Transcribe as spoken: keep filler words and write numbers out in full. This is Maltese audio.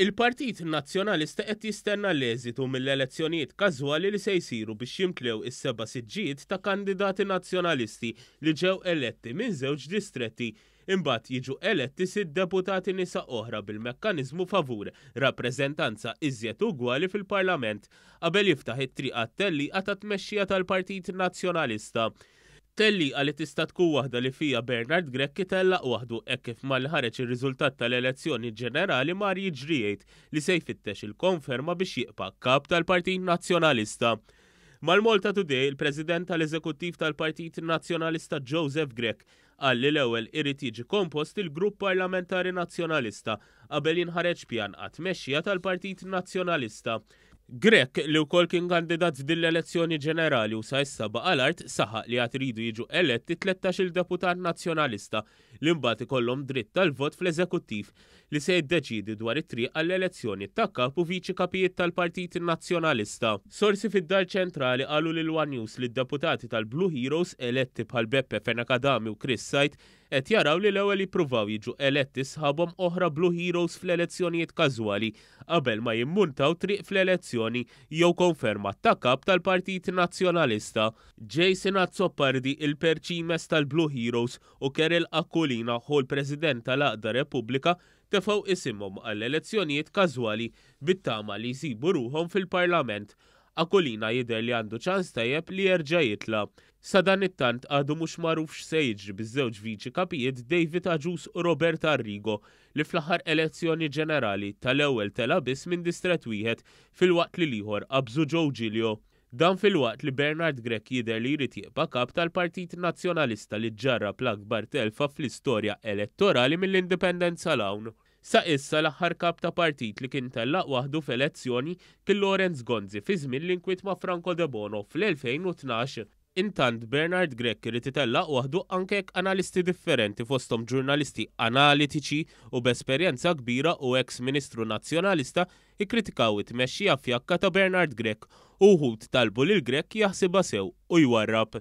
Il-Partit Nazzjonalista qed jistenna l-eżitu mill-elezzjonijiet każwali li se jsiru biex jimtlew is-seba' siġġijiet ta' kandidati nazzjonalisti li ġew eletti minn żewġ distretti. Imbagħad jiġu eletti sitt deputati nisa oħra bil-mekkaniżmu favur rappreżentanza iżjed ugwali fil-Parlament qabel jiftaħ it-triq għat-tellieqa ta' tmexxija tal-Partit Nazzjonalista. Tellieqa li tista' tkun waħda li fiha Bernard Grech itellaq waħdu hekk kif malli ħareġ ir-riżultat tal-elezzjoni ġenerali mar jiġri jgħid li se jfittex il-konferma biex jibqa' kap tal-Partit Nazzjonalista. Mal-Malta Today, il-President tal-Eżekuttiv tal-Partit Nazzjonalista Joseph Grech qal li l-ewwel irid jiġi kompost il-Grupp Parlamentari Nazzjonalista qabel jinħareġ pjan għat-tmexxija tal-Partit Nazzjonalista. Grech, li wkoll kien kandidat f'din l-elezzjoni ġenerali u sa issa baqa' l-art, saħaq li għad iridu jiġu eletti tlettax-il deputat nazzjonalista li mbagħad ikollhom dritt tal-vot fl-eżekuttiv li se jiddeċiedi dwar it-triq għall-elezzjoni ta' kap u viċi kapijiet tal-Partit Nazzjonalista. Sorsi fid-Dar Ċentrali qalu lil One News li d-deputati tal-Blue Heroes eletti bħal Beppe Fenech Adami u Chris Said qed jaraw li l-ewwel jippruvaw jiġu eletti sħabhom oħra Blue Heroes fl-elezzjonijiet każwali qabel ma jimmuntaw triq fl-elezzjoni jew konferma ta' kap tal-Partit Nazzjonalista. Jason Azzopardi, il-perċimes tal-Blue Heroes, u Kerel Aquilina, hu l-President tal-Għaqda Repubblika, tefgħu isimhom għall-elezzjonijiet każwali bit-tama li jsibu ruħhom fil-Parlament. Aquilina jidher li għandu ċans tajjeb li jerġa' jitla'. Sadanittant għadu mhux magħruf x'se jiġri biż-żewġ viċi kapijiet David Agius u Robert Arrigo li fl-aħħar elezzjoni ġenerali tal-ewwel tela' biss minn distret wieħed filwaqt li l-ieħor qabżu Joe Giglio. Dan filwaqt li Bernard Grech jidher li jrid jibqa' kap tal-Partit Nazzjonalista li ġarrab l-akbar telfa fl-istorja elettorali mill-indipendenza 'l hawn. Sa issa l-aħħar kap ta' partit li kien tellaq waħdu f'elezzjoni kien Lawrence Gonzi fi żmien l-inkwiet ma' Franco Debono fl-elfejn u tnax. Intant Bernard Grech irid itellaq waħdu anke jekk analisti differenti fosthom ġurnalisti analitiċi u b'esperjenza kbira u ex-ministru nazzjonalista ikkritikaw it-tmexxija fjakka ta' Bernard Grech u wħud talbu lil Grech jaħsibha sew u jwarrab.